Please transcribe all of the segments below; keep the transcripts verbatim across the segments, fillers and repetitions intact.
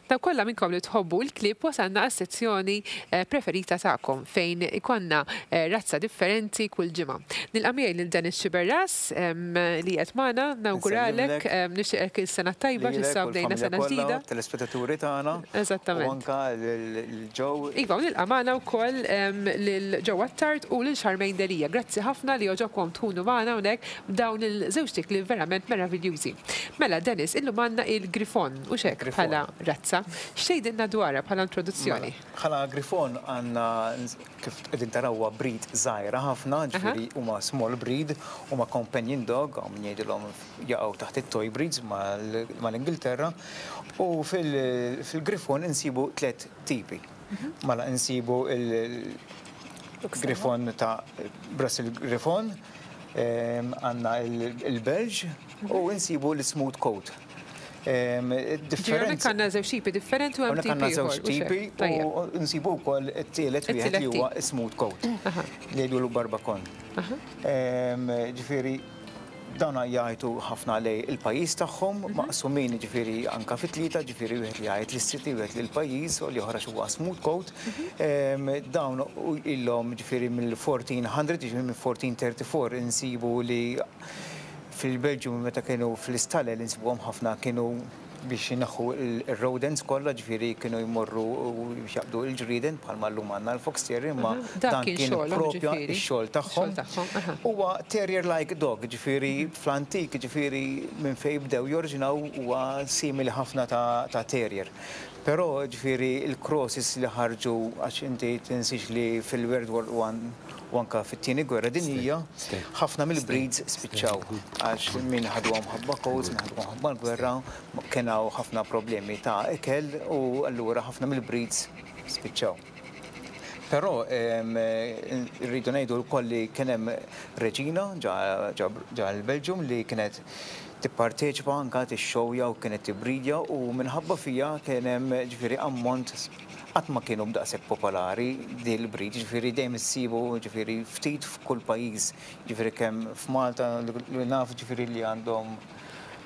Dawk kollha minnkom li tħobbu l-klieb, wasalna għas-sezzjoni eh, preferita tagħkom fejn ikollna eh, razza differenti kull ġimgħa. Nilqa' miegħi lil Dennis Xiberras li qed magħna, nawguralek, nixtieqek il-sena tajba x'issa bdejna sena ġdida. Telespettaturi tagħna. Eżattament. U anka lil Joe. Iva, nilqa' magħna wkoll lil Joe Attard u lil Charmaine Delia. Grazzi ħafna li għoġobkom tkunu magħna hawnhekk b'dawn il-żewġ li verament meraviljużi. Mela, Dennis, illum għandna il-Grifon u xek bħala razza. X'tgħidilna dwarha bħala introduzzjoni? Mela, bħala Grifon għandna, kif qegħdin tarawha, breed żgħira ħafna, ġifieri huma small breed, huma companion dog, hawn min jgħidilhom jaqgħu taħt it-toy breeds mal-Ingilterra. U fil-Grifon insibu tliet tipi. Mhm. Mela insibu il-Grifon ta' Brussels Griffon, għandna il-Belge u insibu l-Smooth Coat. Differenti. Għandna żewġ tipi differenti u hemm tipi. Żewġ tipi u nsibu wkoll it-tielet wieħed li huwa smooth coat li jgħidu barbacon. Ġifieri dawn jgħajtu ħafna lejn il-pajjiż tagħhom, mhm. maqsumin ġifieri anka fit-tlieta, ġifieri wieħed li jgħid lis-city, wieħed lill-pajjiż u l-oħra huwa smooth coat. Mhm. Dawn ilhom ġifieri mill-fourteen hundred, ġifieri mill-fourteen thirty-four insibu li fil-Belġium meta kienu fl-istalel insibuhom ħafna, kienu biex jneħħu il-rodents kollha, ġifieri kienu jmorru biex jaqbdu il-ġrieden bħalma llum għandna l-fox terrier, imma dan kien propja x-xogħol tagħhom. Huwa terrier-like dog, ġifieri fl-antik, ġifieri minn fejn bdew jorġinaw, huwa simili ħafna ta' terrier. Però ġifieri il-crosses li ħarġu, għax inti tinsix li fil-World War One u anka fit-Tieni Gwerra Dinjija, ħafna mill-breeds spiċċaw għax min ħaduhom ħabba coats, min ħaduhom ħabba l-gwerra, kien hawn ħafna problemi ta' ikel u allura ħafna mill-breeds spiċċaw. Però rridu ngħidu wkoll li kien hemm reġina ġo l-Belġium li kienet tipparteċipa, anka tixxowja u kienet tibridja, u minħabba fija kien hemm ġifieri ammont. Qatt ma kienu b'daqshekk popolari dil breed, ġifieri dejjem issibu ġifieri ftit f'kull pajjiż, ġifieri kemm f'Malta li naf ġifieri li għandhom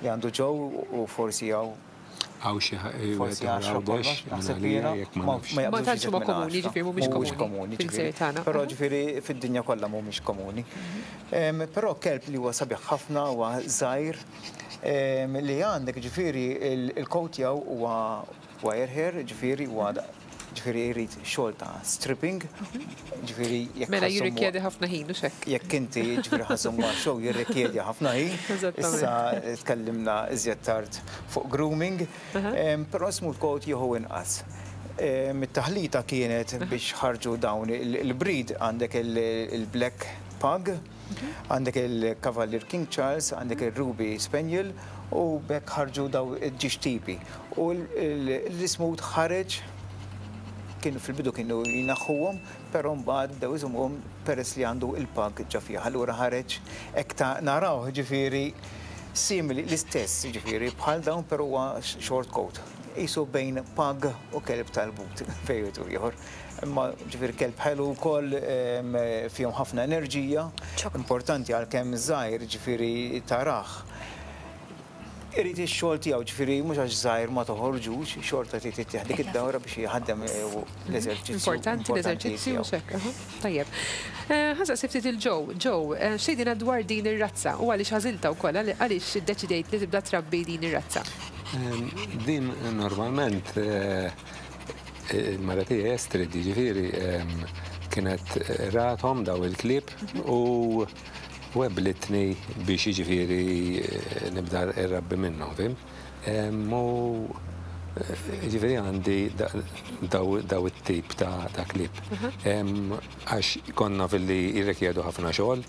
li għandu Joe u forsi hawn Għaw xi forsi għaxra kollox, naħseb jiena. Ma Ma tantx huma komuni, ġifieri mhumiex komuni, fil-gżejjer ġifieri. tagħna. Però ġifieri fid-dinja kollha mhumiex komuni. Em, Però kelb li huwa sabiħ ħafna, huwa żgħir, em, li għandek ġifieri il-coat tiegħu huwa wire hair, ġifieri huwa ġifieri jrid xogħol ta' stripping, ġifieri jekk Mela ħa żżommu- jirrikjedi ħafna ħin u xek. Jekk inti ġifieri ħa żżommu show jirrikjedi ħafna ħin. Eżattament. Issa tkellimna iżjed tard fuq grooming, em, però smooth coat jieħu inqas. Em, It-taħlita kienet biex ħarġu dawn il- il-breed għandek il- il-Black Pug, għandek il-Cavalier King Charles, għandek il-Ruby Spaniel u b'hekk ħarġu daw il-żewġ tipi. U l-smooth ħareġ kienu fil-bidu kienu jneħħuhom, però mbagħad bdew iżommuhom peress li għandu il-pug ġa fih. Allura ħareġ hekk ta' naraw ġifieri simili l-istess ġifieri bħal dawn, però huwa short coat. Qisu bejn pug u kelb tal-but fejn ieħor. Imma ġifieri kelb ħelu wkoll, em, fihom ħafna enerġija, importanti għalkemm żgħir ġifieri tarah. Irid ix-xogħol tiegħu, ġifieri mhux għax żgħir ma toħorġux, xorta trid ittieħ dik id-dawra biex jħaddem l-eżerċizzju. Importanti l-eżerċizzju u tiegħu. xek. Aha, tajjeb. Eh, Ħa nsaqsi ftit lil Joe. Joe, eh, x'tgħidilna dwar din ir-razza u għaliex għażiltha wkoll, għaliex iddeċidejt li tibda trabbi din ir-razza? Em, Din normalment eh, il-mara tiegħi Estrid, ġifieri em, kienet rathom daw il-klieb u weblitni biex ġifieri eh, nibda irrabbi minnhom, fhimt? Em, U eh, ġifieri għandi da- daw daw it-tip ta' ta' klieb. Em, Għax konna fil-li jirrikjedu ħafna xogħol,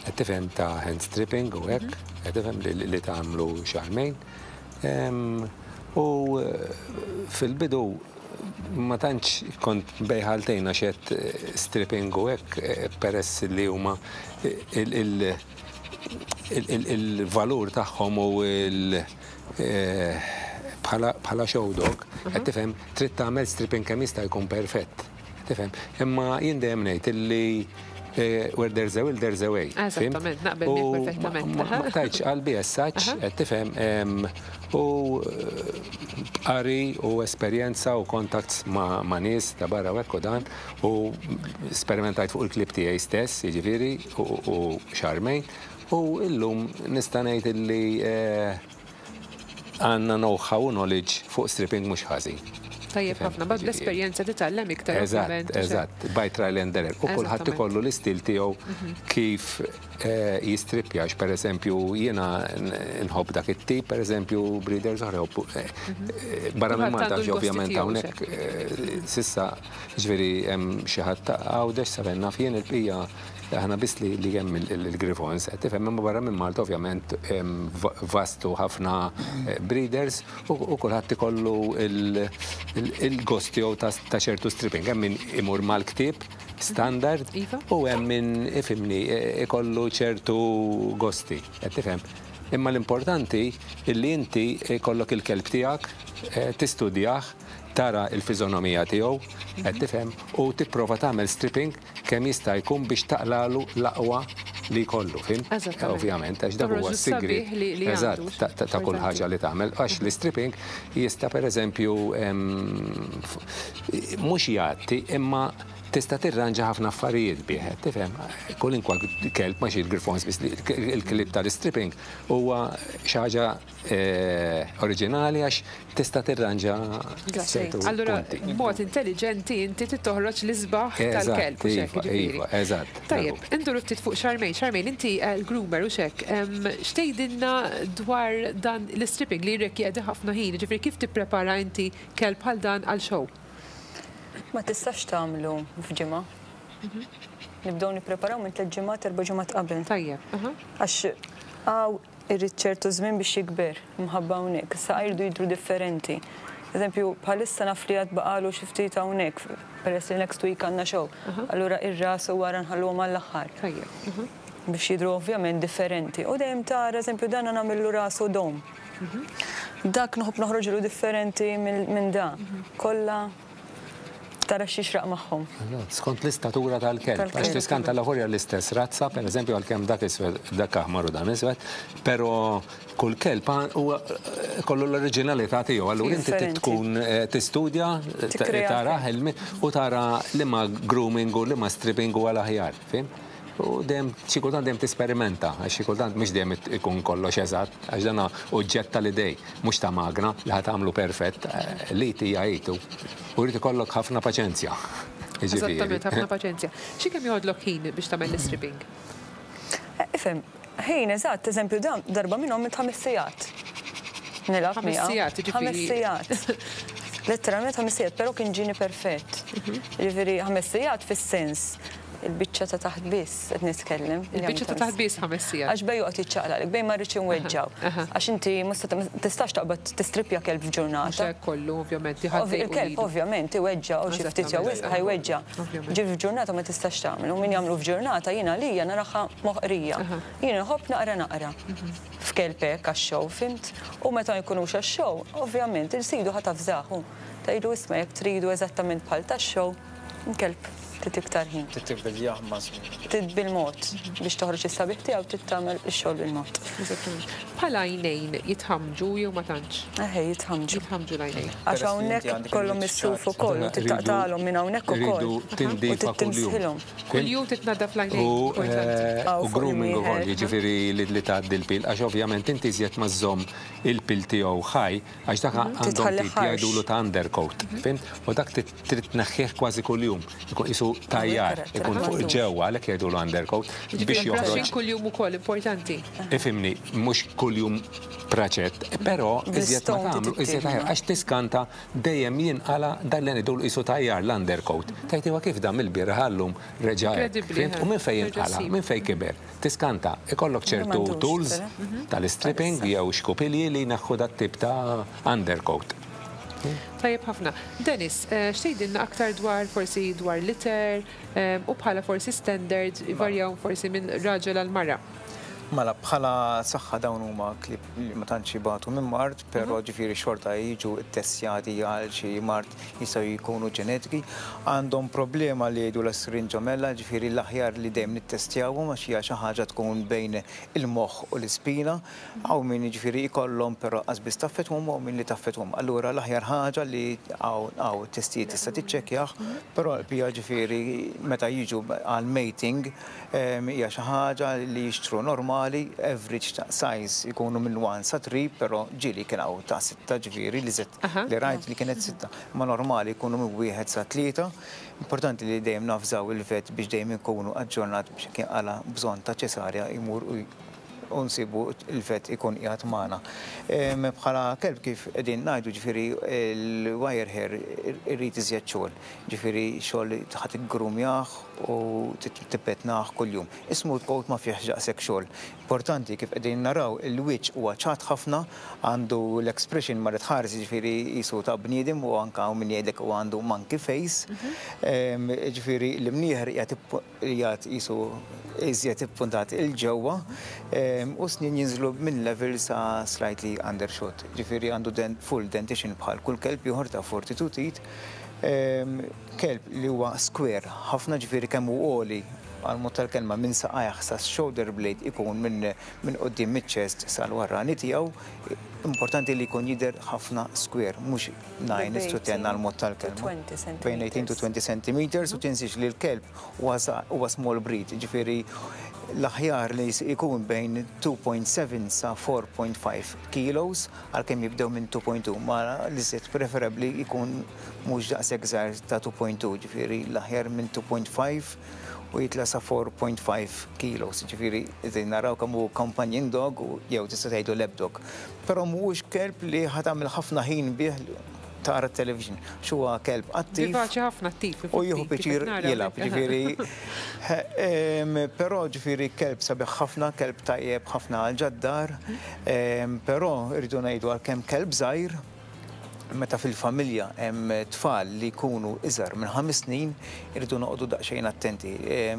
qed tifhem, ta' hand stripping u hekk, qed tifhem, li li tagħmlu Charmaine. Em, U eh, fil-bidu ma tantx kont bejħaltejna xet stripping u hekk, eh, peress li huma il- il- il- il- il-valur tagħhom u il- eh, bħala bħala show dog, qed tifhem, trid tagħmel stripping kemm jista' jkun perfett. Tifhem, imma jien dejjem ngħid illi eh, where there's a will, there's a way. Fhimt? Eżattament, naqbel miegħek U perfettament. Ma ma tajtx qalbi as such, qed tifhem, em, U qari u esperjenza u contacts ma', ma nies ta' barra u hekk u dan u sperimentajt fuq il-klieb tiegħi stess, jiġifieri, u, u Charmaine, u illum nista' ngħid illi eh, għandna know-how u knowledge fuq stripping mhux ħażin. Tajjeb ħafna, bad l-esperjenza titgħallem iktar. Eżatt, ovvjament, u xek. eżatt, by trial and error. U kulħadd Eżattament. ikollu l-istil tiegħu kif eh, jistrippja, għax per eżempju jiena nħobb dak it-tip, per eżempju breeders oħra jħobbu, eh, eh, barra minn Kulħadd Malta għandu l-gosti ovvjament tiegħu, hawnhekk eh, sissa ġifieri hemm xi ħadd ta' Għawdex sa naf jien, il-bqija aħna biss li li hemm il-Griffons, qed tifhem, imma barra minn Malta ovvjament hemm va- vastu ħafna eh, breeders u u kulħadd ikollu il- il- il-gost tiegħu ta' ta' ċertu stripping. Hemm min imur mal-ktieb standard Iva. u hemm min ifhimni eh, ikollu ċertu gosti, qed tifhem. Imma l-importanti illi inti ikollok il-kelb tiegħek, eh, tistudjah, tara il-fiżonomija tiegħu, qed tifhem, u tipprova tagħmel stripping kemm jista' jkun biex taqlalu l-aqwa li jkollu, fhimt? Eżattament. Ovvjament, għax dak Toħroġ huwa s-sigriet. is-sabiħ li- li Eżatt, għandu, ta' ta' ta' kull importanti. ħaġa li tagħmel. Għax l-stripping jista' pereżempju em, f- mhux jgħatti, imma tista' tirranġa ħafna affarijiet bih, tifhem? Kwalunkwe kelb, ma xi il-Griffons biss, il-klieb tal-stripping huwa xi ħaġa eh, oriġinali għax tista' tirranġa ċertu Allura, punti. mod intelligenti inti toħroġ l-isbaħ Eżatt, tal-kelb. U xek, iva, jiġifieri. iva, eżatt. Tajjeb, induru ftit fuq Charmaine. Charmaine, inti eh, l-groomer u xek, em, x'tgħidilna dwar dan l-stripping li jirrikjedi ħafna ħin, ġifieri kif tipprepara inti kelb bħal dan għal show? Ma tistax tagħmlu f'ġimgħa. Nibdew nippreparaw minn tliet ġimgħat, erba' ġimgħat qabel. Tajjeb, aha. Għax għaw irrid ċertu żmien biex jikber mħabba hawnhekk. Issa jridu jidru differenti. Eżempju, bħalissa naf li għad baqalu xi ftit hawnhekk, peress li next week għandna show. Allura ir-ras u wara nħalluhom għall-aħħar Tajjeb. aha. biex jidru ovvjament differenti. U dejjem tara, eżempju, dan nagħmillu rasu dom. Dak nħobb noħroġlu differenti minn minn da. Kollha tara x'jixraq magħhom. Skont l-istatura tal-kelb. Tal-kelb. Għax tiskanta l-aħorja l-istess razza, per eżempju, għalkemm dak iswed, dak aħmar u dan iswed, pero kull kelb huwa kollu l-oriġinalità tiegħu. Allura inti trid Differenti. tkun eh, tistudja, Tikkrea. tara ħelmi u tara liema grooming u liema stripping u għal aħjar, fhimt? U dejjem xi kultant dejjem tisperimenta, għax xi kultant mhux dejjem ikun kollox eżatt, għax dan oġġett tal-idej, mhux ta' magna li ħa tagħmlu perfett, eh, li tija jitu. U jrid ikollok ħafna paċenzja. Jiġifieri. Eżattament, ħafna paċenzja. Xi kemm joħodlok ħin biex tagħmel l-stripping? Eh, Ifhem, ħin eżatt, eżempju dan darba minnhom minn ħames sigħat. Nilgħab Ħames miegħu. sigħat, jiġifieri. Ħames sigħat. Letteralment ħames sigħat, però kien ġini perfett. Jiġifieri ħames sigħat fis-sens il-biċċa ta' taħt biss qed nitkellem. Il-biċċa ta' taħt biss ħames sigħat. Għax bej joqgħod jiċċaqlaq, bej ma rridx inweġġaw. Għax inti ma tistax taqbad tistrippja kelb Mhux f'ġurnata. hekk kollu, ovvjament, li Ovvi- ħadd Il-kelb ovvjament iweġġa u xi ftit jew wisq ħa jweġġa. Ovvjament. Ġifieri f'ġurnata ma tistax tagħmel. U min jagħmlu f'ġurnata jiena lija naraha moħqrija. Jiena nħobb naqra naqra. F'kelb hekk għax-show, fhimt? U meta jkunux għax-show, ovvjament il-sidu ħa tafżahu. Tgħidu isma' jekk tridu eżattament bħal tax-show, kelb trid iktar ħin. Titibbil maż Trid bil-mod biex toħroġ is-sabiħ tiegħu trid tagħmel ix-xogħol bil-mod. Eżattament. Bħala għajnejn jitħamġu jew ma tantx? Eħe jitħamġu. Jitħamġu l-għajnejn. Għax Peress li inti hawnhekk għandek kollhom il-wiċċ is-suf ċar. ukoll u titaqtalhom minn hawnhekk ukoll. Rridu U tindifa kuljum. tittimsħilhom. Kuljum titnaddaf l-għajnejn. U importanti. eh, Aw, u fuq grooming ukoll, il-mieħer. jiġifieri li li tgħaddi l-pil, għax ovvjament inti iżjed ma żżomm il-pil tiegħu ħaj, għax dak għandhom Titħalli tip ħarx. jgħidulu ta' undercoat, fhimt? U dak trid trid tneħħih kważi kuljum, ikun qisu tajjar, ikun fuq ġewwa għalhekk jgħidulu undercoat biex Ġifieri joħroġ. brushing kuljum ukoll importanti. Ifhimni, mhux kuljum praċett, però iżjed ma Bl-stone tagħmlu, iżjed tittiħna. aħjar, għax tiskanta dejjem jinqala dan li ngħidulu qisu tajjar l-undercoat. Tgħid iwa kif dan mill-bieraħ għallum reġa' hekk. Incredibbli, Fhimt? U minn fejn reġa' jinqala, ssib. minn fejn kiber. Tiskanta, ikollok ċertu m'għandux, tools però. tal-stripping jew xkupilji li jneħħu dat tip ta' undercoat. Tajjeb ħafna. Dennis, eh, x'tgħidilna aktar dwar forsi dwar litter eh, u bħala forsi standard varjaw forsi minn raġel għal mara. Mela, bħala saħħa dawn huma klieb li ma tantx jibatu minn mard, però ġifieri xorta jiġu ttestjati għal xi mard, jistgħu jkunu ġenetiki. Għandhom problema li jgħidu l-syringomyelia, ġifieri l-aħjar li dejjem nittestjawhom għax hija xi ħaġa tkun bejn il-moħħ u l-ispina. Hawn min ġifieri jkollhom però qas biss taffettwahom u hawn min li taffettwahom. Allura l-aħjar ħaġa li hawn testijiet tista' tiċċekkjah, però l-pija ġifieri meta jiġu għal mating hija xi ħaġa li jixtru normali, average ta' size ikunu minn wieħed sa tlieta, però ġieli kien hawn ta' sitta, ġifieri li zet li rajt li kienet sitta, ma normali jkunu minn wieħed sa tlieta. Importanti li dejjem nafżaw il-vet biex dejjem ikunu aġġornat biex kien għala bżonn ta' ċesarja jmur u nsibu il-vet ikun qiegħed magħna. Bħala kelb, kif qegħdin ngħidu, ġifieri il-wire hair irrid iżjed xogħol, ġifieri xogħol ħadd iggrumjah u tippetnaħ kuljum. Is-smooth coat ma fih daqshekk xogħol. Importanti, kif qegħdin naraw, il-wiċċ huwa ċat ħafna, għandu l-expression ma tħares, ġifieri jisu ta' bniedem u anka hawn min jgħidlek u għandu monkey face. Ġifieri l-imnieħer qiegħed jisu iżjed ippuntat il-ġewwa u snien jinżlu minn level sa slightly undershot. Ġifieri għandu full dentition bħal kull kelb ieħor ta' forty-two teeth. Kelb li huwa square ħafna, ġifieri kemm hu għoli għal mod tal-kelma minn saqajh sa shoulder blade ikun minn minn quddiem miċ-chest sal-warrani tiegħu. Importanti li jkun jidher ħafna square, mhux nine to ten għal mod tal-kelma. Bejn eighteen to twenty centimeters, u tinsiex li l-kelb huwa small breed, ġifieri l-aħjar li jkun bejn two point seven sa four point five kilos, għalkemm jibdew minn two point two, ma li set preferabli jkun mhux daqshekk żgħar ta' two point two, ġifieri l-aħjar minn two point five u jitla sa four point five kilos, ġifieri naraw kemm hu companion dog u jew tista' tgħidu lap dog. Però mhuwiex kelb li ħa tagħmel ħafna ħin bih tara television. Huwa kelb attiv. Vivaċi ħafna, attiv. U jieħu pjaċir jilgħab, ġifieri. Però ġifieri kelb sabiħ ħafna, kelb tajjeb ħafna għal ġad-dar, però rridu ngħidu, għalkemm kelb żgħir, meta fil-familja hemm tfal li jkunu iżgħar minn ħames snin, irridu noqogħdu daqsxejn attenti.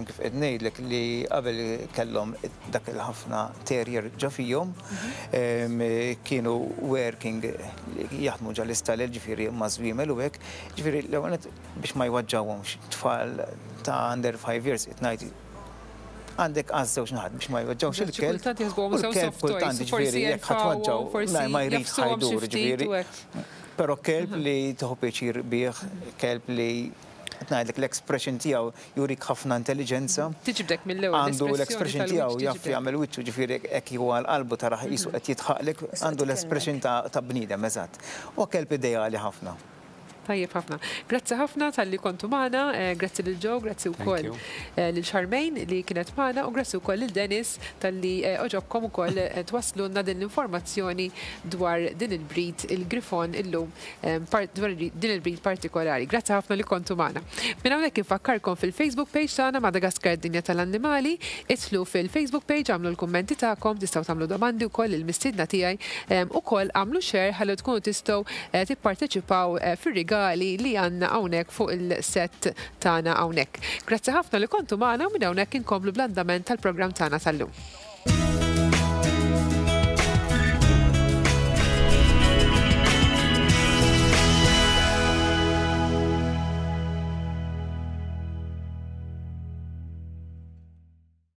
Kif qed ngħidlek li qabel kellhom dak il-ħafna terrier ġa fihom, kienu working, jaħdmu ġa l-istalel, ġifieri ma' żwiemel u hekk, ġifieri l-ewwel biex ma jweġġgħuhomx tfal ta' under five years, qed ngħid għandek għaż-żewġ naħat biex ma jweġġgħux il-kelb. Kultant jaħsbuhom Il-kelb kultant, ġifieri jekk ħa tweġġgħu ma jridx, ħa jdur, ġifieri. Però kelb li tieħu pjaċir bih, kelb li ngħidlek l-expression tiegħu jurik ħafna intelligenza. Tiġbdek mill-ewwel. Għandu l-expression tiegħu, jaf jagħmel wiċċu, ġifieri hekk huwa l-qalbu tarah qisu qed jidħaqlek, għandu l-expression ta' bniedem eżatt. U kelb ideali ħafna. Tajjeb ħafna. Grazzi ħafna talli kontu magħna, eh, grazzi lil Joe, grazzi wkoll eh, lil Charmaine li kienet magħna u grazzi wkoll lil Dennis talli eh, għoġobkom ukoll twasslulna din l-informazzjoni dwar din il-breed, il-Grifon illum, dwar din il-breed partikolari. Grazzi ħafna li kontu magħna. Minn hawnhekk infakkarkom fil-Facebook page tagħna, Madagaskar Dinja tal-Annimali, idħlu fil-Facebook page, għamlu l-kummenti tagħkom, tistgħu tagħmlu domandi wkoll il-mistiedna tiegħi, ukoll għamlu share ħalli tkunu tistgħu tipparteċipaw fir-rigali li għandna hawnhekk fuq il-set tagħna hawnhekk. Grazzi ħafna li kontu magħna u minn hawnhekk inkomplu bl-andament tal-programm tagħna tal-lum.